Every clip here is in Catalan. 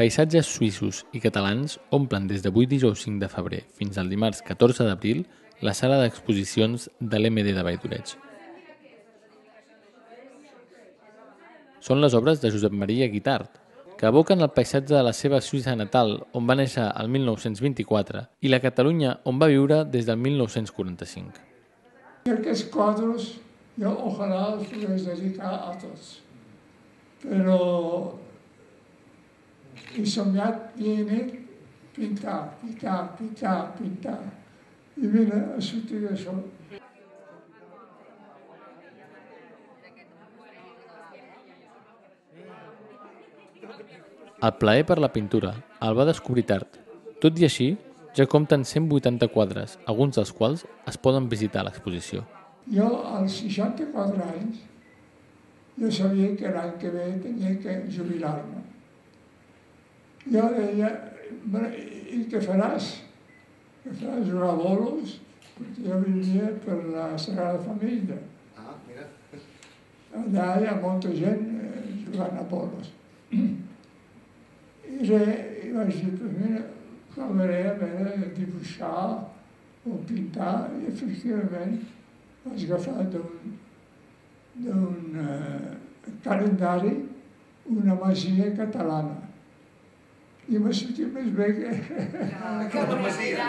Paisatges suïssos i catalans omplen des d'avui dijous 5 de febrer fins al dimarts 14 d'abril la sala d'exposicions de l'MD de Valldoreig. Són les obres de Josep Maria Guitart, que evoquen el paisatge de la seva Suïssa natal, on va néixer el 1924, i la Catalunya on va viure des del 1945. Y aquests quadros yo ojalá los pudiera dedicar a tots, pero he soñat viene pintar, pintar, pintar, pintar, i mira, ha sortit això. El plaer per la pintura el va descobrir tard. Tot i així, ja compten 180 quadres, alguns dels quals es poden visitar a l'exposició. Jo, als 64 anys, jo sabia que l'any que ve tenia que jubilar-me. Jo deia, i què faràs? Què faràs? Jugar a bolos? Perquè jo vivia per la Sagrada Família. Mira. Allà hi ha molta gent jugant a bolos. I vaig dir, pues mira, provaré a veure dibuixar o pintar, i efectivament vaig agafar d'un calendari una masia catalana. I m'ha sortit més bé que... Que la masia.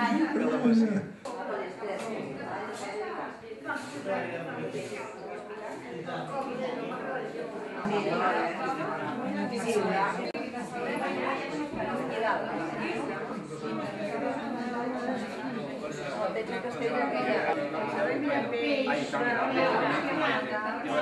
Hay 5 personas.